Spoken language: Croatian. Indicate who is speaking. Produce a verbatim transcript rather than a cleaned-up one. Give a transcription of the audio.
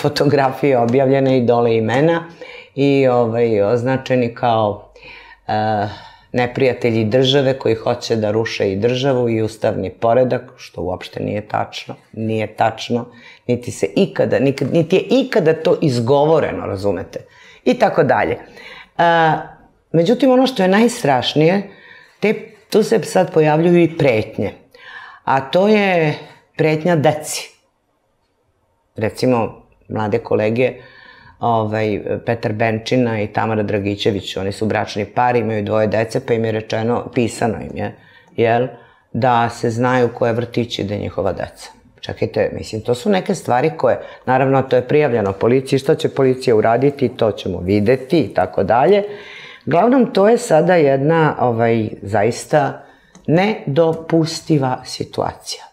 Speaker 1: fotografije objavljene i dole imena i označeni kao neprijatelji države koji hoće da ruše i državu i ustavni poredak, što uopšte nije tačno, nije tačno, niti se ikada, niti je ikada to izgovoreno, razumete, i tako dalje. Međutim, ono što je najstrašnije, tu se sad pojavljuju i pretnje, a to je pretnja deci. Recimo, mlade kolege, Petar Benčina i Tamara Dragićević, oni su bračni par, imaju dvoje dece, pa im je rečeno, pisano im je, jel, da se znaju koje vrtići da je njihova deca. Čekajte, mislim, to su neke stvari koje, naravno, to je prijavljeno policiji, što će policija uraditi, to ćemo videti i tako dalje. Glavnom, to je sada jedna, zaista, nedopustiva situacija.